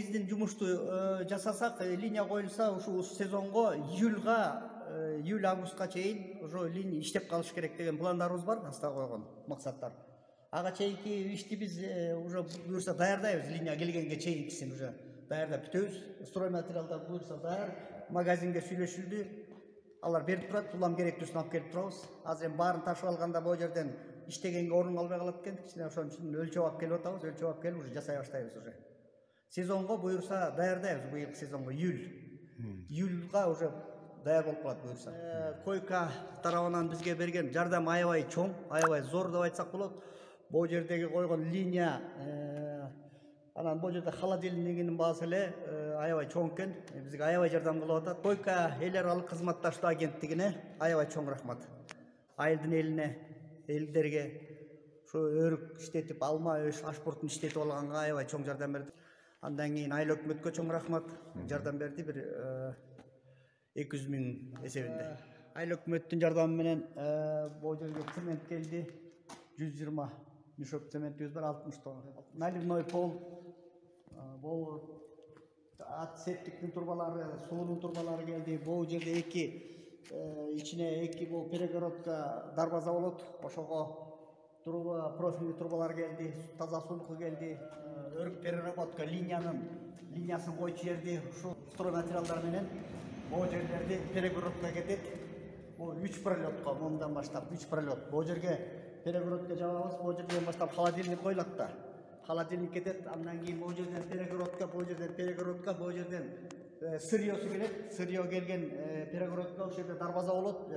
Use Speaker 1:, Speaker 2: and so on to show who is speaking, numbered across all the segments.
Speaker 1: негизден жумушту жасасак, линия коюлса, ушул сезонго июль августка чейин ошо линия иштеп калыш керек деген пландарыбыз бар, аста койгон максаттар. Ага чейинки ишти биз уже буюрса даярдайбыз, линия келгенге чейинкисин уже даярдап бүтөбүз. Строй материалдар буюрса даяр, магазинге сүйлөшүлдү. Алар берип турат, улам керектүүсүн алып келип турабыз. Азыр эми баарын ташып алганда бул жерден иштегенге орун калбай калат экен. Кичине ошон үчүн өлчөп алып келип атабыз, өлчөп алып келип уже жасай баштайбыз уже. Сезонго буюрса даярдайбыз, быйылкы сезонго июльга уже даяр болуп калат буюрса. Койка тарабынан бизге берген жардам аябай чоң, аябай зор деп айтсак болот. Бул жердеги койгон линия, анан бул жерде холодильнигинин баасы эле аябай чоң экен. Бизге аябай жардам кылып атат. Койка эл аралык кызматташтуу агенттигине аябай чоң рахмат. Айылдын элине, элдерге ошо өрүк иштетип, алма, ашпуртун иштетип алганга аябай чоң жардам берди. Андан кийин айыл өкмөткө чоң рахмат, жардам берди бир 200 000 эсебинде. Айыл өкмөттүн жардамы менен бул жерге цемент келди. 120 мешок цементибиз бар, 60 тонна. Наливной пол, бул септиктин турбалары, суунун турбалары келди. Бул жерде ичине эки бул перегородка дарбаза болот. Ошого труба, профильный турбалар келди, таза сулку келди. Өрүк переработка линиясын койчу жерди ушул строй материалдар менен бул жерлерди перегородка кетет. Бул 3 пролетко мындан баштап 3 пролет. Бул жерге перегородка жабабыз, бул жерден баштап холодильник коюлат да. Холодильник кетет, андан кийин бул жерден перегородка, бул жерден сырьёсу келет. Сырьё келген перегородка ошол жерде дарбаза болот.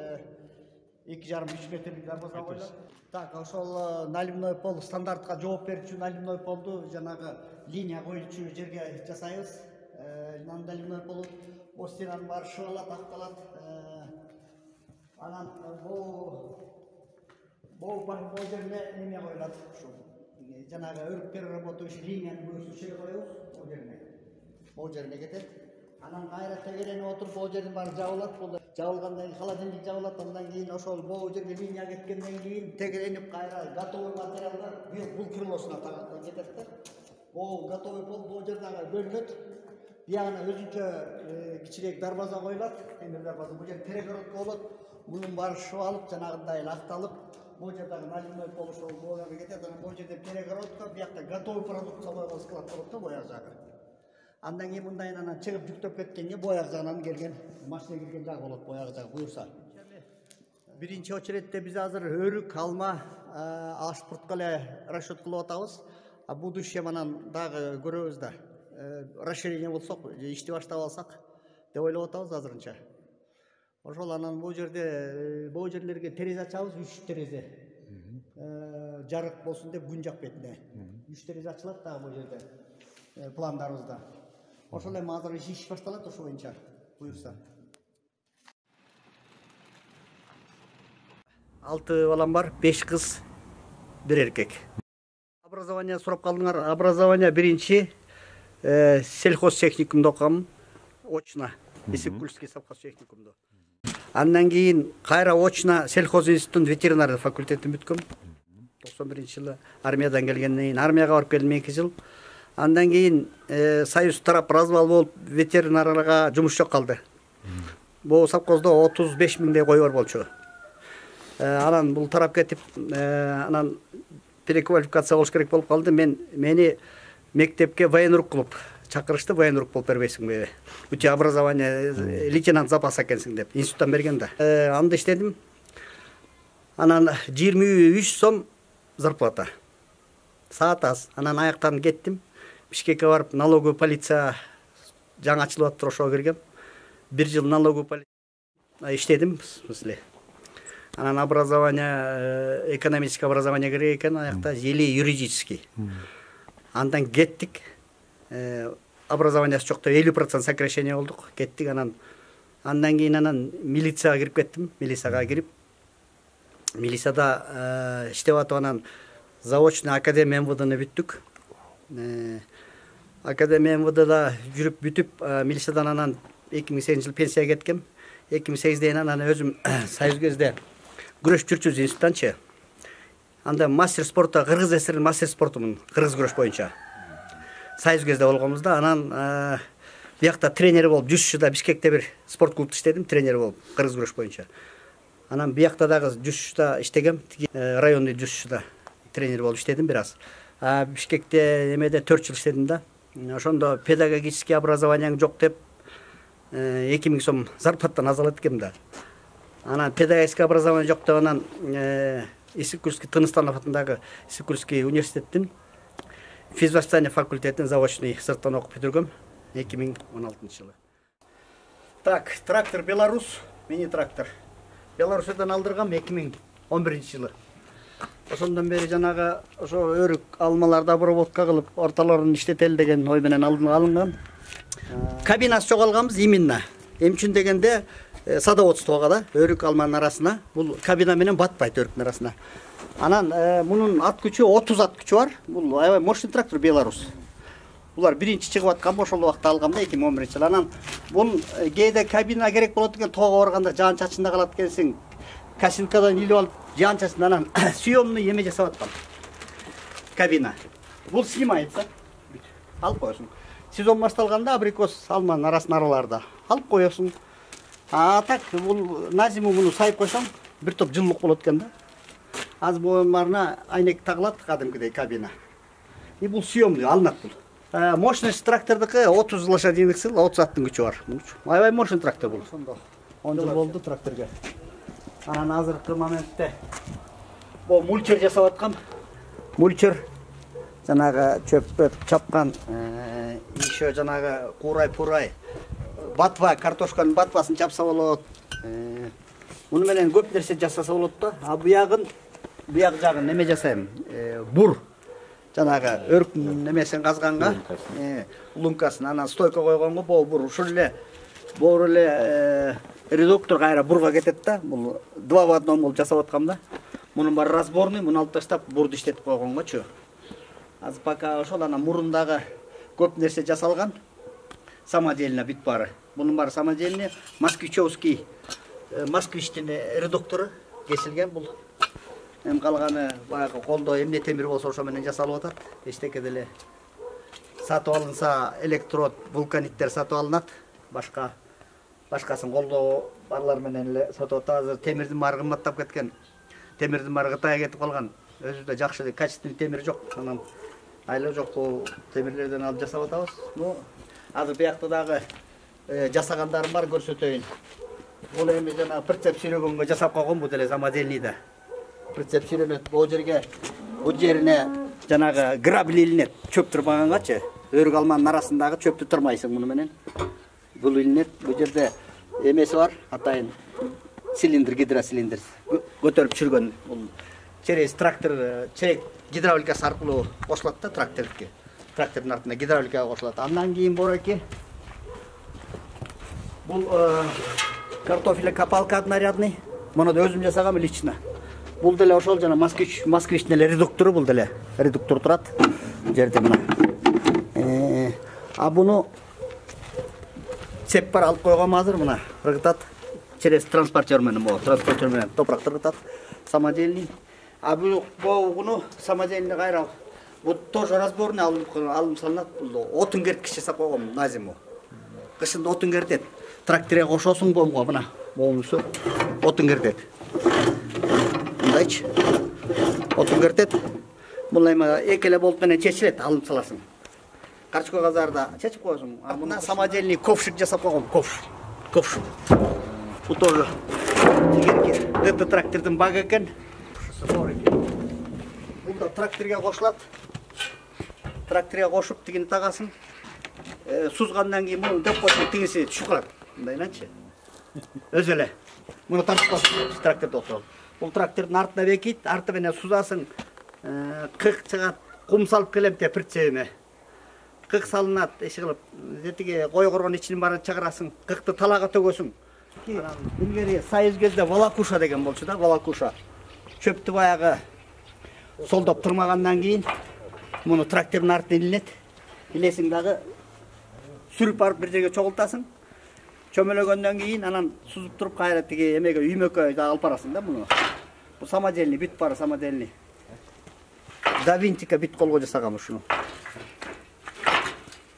Speaker 1: 2,5-3 метрлик дарбаза коюлат. Так, ошол наливной пол стандартка жооп берүүчү наливной полду жанагы линия коюлчу жерге жасайбыз. Наливной полу бул стенанын баары шыбалат, акталат. Анан бул жерге неме коюлат, ушул жанагы өрүк переработуучу линиянын көзү жер коебуз, бул жерине кетет. Анан кайра тегеренип отуруп бул жердин баары жабылат. Жабылгандан кийин холодильник жабылат, андан кийин ошол бул жерге линия кеткенден кийин тегеренип кайра готовый материалдар бул крылосуна кетет да. Бул готовый пол бул жерден бөлүнөт. Биягына өзүнчө кичирээк дарбаза коюлат, темир дарбаза. Бул жер перегородка болот. Мунун баары шыбалып, жанагындай эле акталып, бул жердеги наливной пол ошол бул жерге кетет. Анан бул жерде перегородка, биякта готовый продукция койгон склад болот да, бояк жагы. Андан кийин мындайын анан чыгып жүктөп кеткенге бояк жагынан келген, машина кирген жагы болот, бояк жагы буюрса. Биринчи очередте биз азыр өрүк, алма, ашпуртка эле расчет кылып атабыз. А будущем анан дагы көрөбүз да. Расширение болсок, ишти баштап алсак деп ойлоп атабыз азырынча. Ошол анан бул жерлерге терезе ачабыз, 3 терезе. Жарык болсун деп күн жак бетине. 3 терезе ачылат дагы бул жерде пландарыбызда. Ошол эми азыр иш башталат ошо боюнча буюрса. 6 балам бар, 5 кыз, 1 эркек. Образование сурап калдыңар. Образование биринчи сельхозтехникумда окугам, очно. Исыкульский совхоз техникумда. Андан кийин кайра очно сельхоз институтунун ветеринарный факультетин бүткөм. 91-жылы армиядан келгенден кийин армияга барып келдим 2 жыл. Андан кийин союз тарап развал болуп ветеринарга жумуш жок калды. Бул совхоздо 35 000 кой бар болчу. Анан бул тарап кетип, анан переквалификация болуш керек болуп калды. Мени мектепке военрук кылып чакырышты, военрук болуп бербейсиңби? Үтө образование лейтенант запаса экенсиң деп институттан берген да. Анда иштедим. Анан 23 сом зарплата. Саат аз. Анан аяктан кеттим. Бишкекке барып налоговый полиция жаңы ачылып атты, ошого киргем. 1 жыл налоговый полиция иштедим, в смысле. Анан образование, экономическое образование керек экен, аякта или юридический. Андан кеттик. Образованиясы жокто 50% сокращение болдук. Кеттик андан кийин милицияга кирип кеттим. Милицияга кирип милицияда иштеп атып анан заочный академия МВДны бүттүк. Академия МВДда жүрүп бүтүп милициядан анан 2008-жылы пенсияга кеткем. 2008-ден анан өзүм союз кезде күрөш жүрчүбүз институттанчы. Анда мастер спорта, Кыргыз ССР мастер спортумун, кыргыз күрөш боюнча. Союз кезде болгонбуз да. Анан биякта тренер болуп Жушшуда Бишкекте бир спорт клубда иштедим, тренер болуп кыргыз күрөш боюнча. Анан биякта дагы Жушшуда иштегем, районный Жушшуда тренер болуп иштедим бир аз. Бишкекте эмеде 4 жыл иштедим да. Ошондо педагогический образованияң жок деп 2000 сом зарплаттан азалат экем да. Анан педагогический образование жок деп анан Иссык-Кульский Тыныстанов атындагы Иссык-Кульский университеттин физвоспитание факультетин заочный сырттан окуп бүтүргөм 2016 жылы. Так, трактор Беларусь, мини трактор. Беларусьтан алдыргам 2011 жылы. Ошондон бери жанагы ошо өрүк алмаларды обработка кылып, орталарын иштетели деген ой менен алынган. Кабинасы жоголганбыз именно. Эмне үчүн дегенде садоводствого да, өрүк алманын арасына, бул кабина менен батпайт өрүктүн арасына. Анан мунун ат күчү 30 ат күчү бар. Бул аябай мощный трактор Беларусь. Булар биринчи чыгып аткан, ошол убакта алгам да 2011 жылы. Анан бул кээде кабина керек болот экен, тоого барганда жаан чачында калат экенсиң. Касинкадан илип алып жаан чачында анан съемный эме жасап аткан. Кабина. Бул снимается. Алып коесуң. Сезон башталганда абрикос алманын арасына араларда алып коесуң. Так, бул на зиму муну сайып койсоң, бир топ жылдык болот экен да. Аз боюндарына айнек тагылат кадимкидей кабина. И бул съемный алынат бул. Мощность трактордыкы 30 лошадиных сил, 30 аттын күчү бар. Аябай мощный трактор бул. 10 жыл болду тракторга. Анан азыркы моментте бул мульчер жасап аткам. Мульчер жанагы чөп чапкан, еще жанагы курай-пурай, батва, картошканын батвасын чапса болот. Муну менен көп нерсе жасаса болот да. Буяк жагын неме жасайм? Бур. Жанагы өрүктүн немесин казганга, лункасын анан стойка койгонго бур ушул эле редуктор кайра бурга кетет да. Бул 2 в 1 болуп жасап аткам да. Мунун баары разборный, муну алып таштап бурду иштетип койгонгочу. Азыр пока ошол анан мурундагы көп нерсе жасалган. Самодельно бүт баары. Мунун баары самодельный, москвичевский, москвичтин редуктору кесилген бул. Эм калганы баягы колдо эмне темир болсо ошо менен жасалып атат. Эчтеке деле сатып алынса электрод, вулканиттер сатып алынат. Башкасын колдо барлар менен эле сатып атат. Азыр темирдин баары кымбаттап кеткен. Темирдин баары Кытайга кетип калган. Өзүдө жакшы качественный темир жок. Анан айла жок темирлерден алып жасап атабыз. Азыр биякта дагы жасагандарым бар, көрсөтөйүн. Бул эми жана прицеп сүйрөгөнгө жасап койгон бул деле самодельный да. Прицеп сүйрөнөт, бул жерине жанагы грабель илинет, чөп турбагангачы. Өрүк алманын арасындагы чөптү турмайсың муну менен. Бул илинет, бул жерде эмеси бар, атайын цилиндр, гидроцилиндр көтөрүп чүргөн. Бул через трактор, чек гидравликасы аркылуу кошулат да трактордуки. Трактордун артына гидравликага кошулат. Андан кийин бороки бул картофель копалка однорядный. Муну да өзүм жасагам лично. Бул деле ошол жана москвичтин эле редуктору, бул деле редуктор турат. Жерде мына. Буну цеп бар алып койгом азыр мына. Ыргытат через транспортер менен, транспортер менен топуракты ыргытат. Самодельный. Буну самодельный кайра. Бул тоже разборный алым салынат. Бул отун керткич жасап койгом на зиму. Кышында отун кертет. Тракторга кошосуң бомго мына. Болмусу отун кертет. Мындайчы. Отун кертет. Бул эми экеле болт менен чечилет, алым саласың. Карчык казарда чечип коесуң. Мына самодельный ковшик жасап койгом, ковш. Бул тоже ДТ трактордун багы экен. Бул да тракторга кошулат. Тракторга кошуп тигини тагасың. Сузгандан кийин муну депосун тигиси түшүп калат. Мындайланчы. Өзү эле. Муну тартып коесуң, трактордо отуруп. Бул трактордун артына бекит, арты менен сузасың. Кык чыгат, кум салып келем деп прицебиме. Кык салынат, эши кылып, жетиге койгоргон ичинин баарын чыгарасың, кыкты талага төгөсүң. Илгери Союз кезде волокуша деген болчу да, волокуша. Чөптү баягы солдоп турмагандан кийин муну трактордун артына илинет. Илесиң дагы сүрүп барып бир жерге чогултасың. Чөмөлөгөндөн кийин анан сузуп туруп кайра тиги эмеге үймөккө алып барасың да муну. Бул самодельный, бүт баары самодельный. Да винтика бүт колго жасагам ушуну.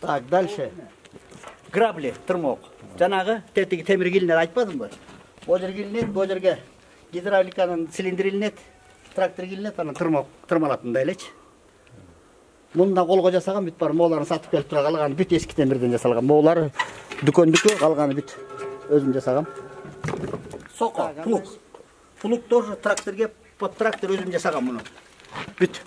Speaker 1: Так, дальше. Грабли, тырмок. Жанагы тетиги темир килинет айтпадымбы? Бул жер килинет, бул жерге гидравликанын цилиндри илинет, трактор килинет, анан тырмалат мындай элечи. Мында колго жасаган бүт бар, мооларын сатып келип тура калган бүт эски темирден жасалган. Моолары дүкөндүкү, калганы бүт өзүм жасагам. Соко, плуг. Плуг тоже тракторге, под трактор өзүм жасагам муну. Бүт.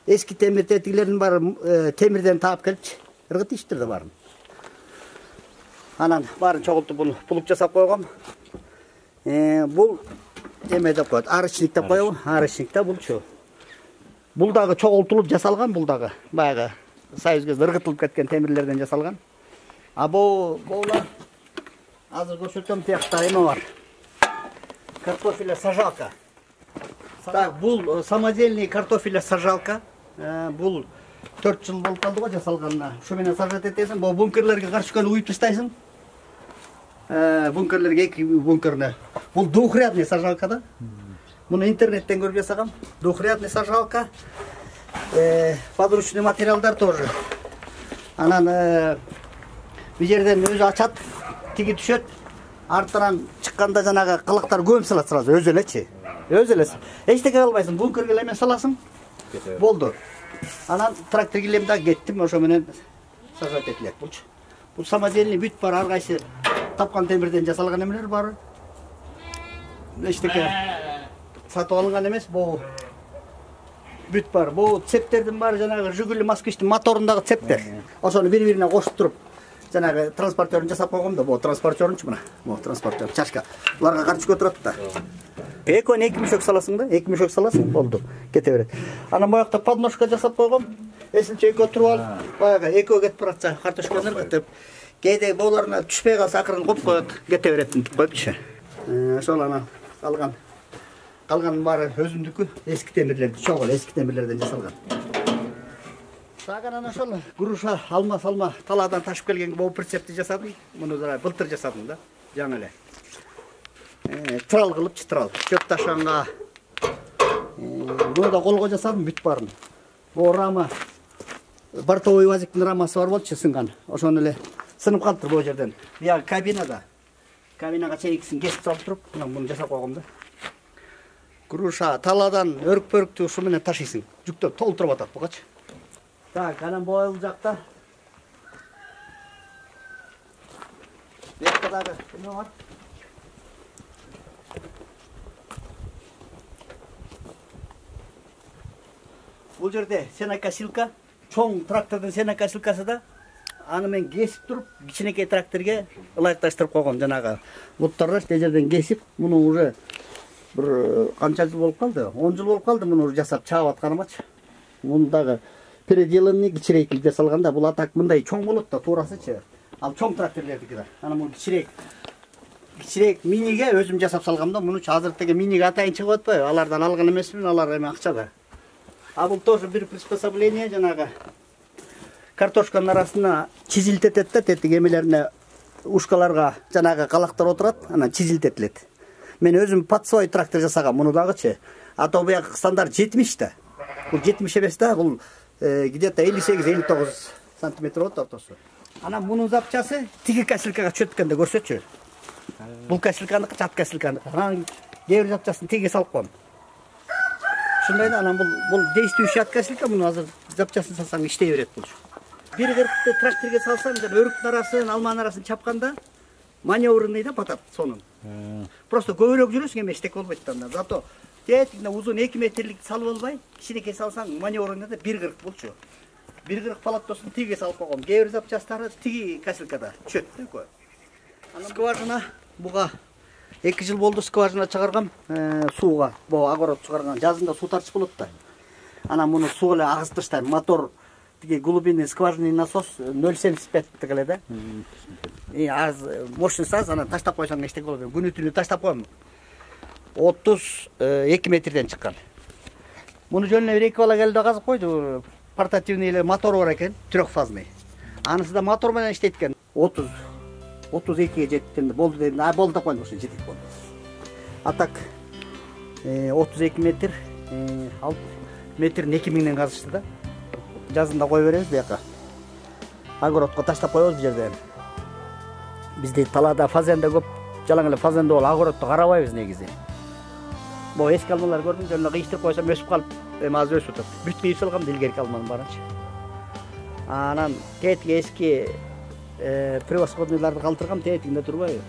Speaker 1: Эски темир тетигилердин баары темирден таап келипчи. Ыргыт иштерде барын. Анан барын чогултуп буну плуг жасап койгом. Бул эме деп коет, арычник деп коебу? Арычник да булчу. Бул дагы чогултулуп жасалган, бул дагы баягы союз кезде ыргытылып кеткен темирлерден жасалган. А булар азыр көрсөтөм, тиякта эме бар. Картофеля сажалка. Так, бул самодельный картофеля сажалка. Бул 4 жыл болуп калды го жасалганына. Ушу менен сажат этесиң, бул бункерлерге каршы келип уюп таштайсың. Бункерлерге эки бункерне. Бул двухрядный сажалка да. Муну интернеттен көрүп жасагам. Двухрядный сажалка. Подручный материалдар тоже. Анан бу жерден өзү ачат, тиги түшөт. Артынан чыкканда жанагы кылыктар көмүп салат сразу, өзү элечи. Өзү эле. Эчтеке кылбайсың, бункерге эле саласың. Болду. Анан трактор килем да кеттим, ошо менен сажат этилет булчу. Бул самодельный бүт бар, ар кайсы тапкан темирден жасалган эмелер бар. Эчтеке сатып алынган эмес, бул бүт бар. Бул цептердин баары жанагы Жигули Москвичтин моторундагы цептер. Ошону бири-бирине кошуп туруп жанагы транспортерин жасап койгом да, бул транспортерчу мына. Бул транспортер, чашка. Буларга карчыкка турат да. Экөөнү 2 мешок саласың да, 2 мешок саласың, болду, кете берет. Анан буякта подножка жасап койгом. Эсинче экөө туруп алып, баягы экөө кетип баратса, картошканы ыргытып, кээде боолоруна түшпөй калса акырын коюп коет, кете берет деп коюпчу. Ошол анан калганын баары өзүмдүкү, эски темирлерди, чогул эски темирлерден жасалган. Так, анан ошол груша алма-салма талаадан ташып келген бул прицепти жасадым. Муну да былтыр жасадым да, жаңы эле. Трал кылыпчы, трал. Чөп ташыганга. Буну да колго жасадым, бүт барын. Бул рама бортовой УАЗиктин рамасы бар болчу, сынган. Ошону эле сынып калыптыр бул жерден. Бияк кабинада. Кабинага чейиксин кесип салып туруп, муну жасап койгом да. Груша талаадан өрүк-пөрүктү ушу менен ташыйсың. Жүктөп толтуруп атат бугачы. Так, анан бул жакта бекте дагы эме бар. Бул жерде сенокосилка, чоң трактордун сенокосилкасы да. Аны мен кесип туруп, кичинекей тракторге ылайыкташтырып койгом. Жанагы буттарды тез жерден кесип, муну уже бир канча жыл болуп калды? 10 жыл болуп калды муну жасап чаап атканымачы. Муну дагы переделанный кичирейкилик жасалганда, бул атак мындай чоң болот да, туурасычы. Ал чоң тракторлордуки да. Анан бул кичирээк миниге өзүм жасап салгам да. Муну азыр теге миниге атайын чыгып атпайбы? Алардан алган эмесмин, алар эме акча да. А бул тоже бир приспособление, жанагы картошканын арасына чизилтетет да, тетиги эмелерине ушкаларга жанагы калактар отурат, анан чизилтетилет. Мен өзүм подсой трактор жасагам, муну дагычы. Ата буяк стандарт 70 да. Бул 70 эмес да, бул где-то 58-59 сантиметр болот ортосу. Анан мунун запчасы тиги косилкага чөткөндө көрсөтчү. Бул косилканыкы, чат косилканыкы. Анан кээ бир запчасын тиги салып коем. Ушундай да, анан бул действующий от косилка, муну азыр запчасын салсаң иштей берет бул. Бир кыркты тракторге салсаң, өрүктүн арасын, алманын арасын чапканда маневрный да батат сонун. Просто көбүрөөк жүрөсүң, эме эчтеке болбойт да. Зато тетигине узун 2 метрлик салып албай, кичинекей салсаң маневрный да 1,40 болчу. 1,40 палаттосын тиги салып койгом. Кээ бир запчастары тиги косилкада чөт да. Скважина буга 2 жыл болду скважина чыгаргам, сууга, бу огород чыгарган. Жазында суу тартыш болот да. Анан муну суу эле агызып таштайм. Мотор тиги глубинный скважинный насос 0,75 эле да. Аз мощность аз, анан таштап койсоң эчтеке болбойт. Күнү түнү таштап коем. 32 метрден чыккан. Муну жөнүнө бир 2 бала келди казып койду. Портативный эле мотору бар экен, трехфазный. Анысы да мотор менен иштейт экен. 32ге жетти болду дедим. Болду деп койдум, ошо жетет болду. А так 32 метр, ал метрин 2000ден казышты да. Жазында кой беребиз бияка. огородко таштап коебуз бул жерден. Бизде талаада фазен да көп, жалаң эле фазенде болуп огородду карабайбыз негизи. Могу эски алмалар көрдүм, жана кыйыштырып койсом өсүп калып, эми азыр өсүп атат. Бүт кыйып салгам да илгерки алманын баарынчы. Анан тетиги эски превосходныйларды калтыргам, тетигинде турбайбы.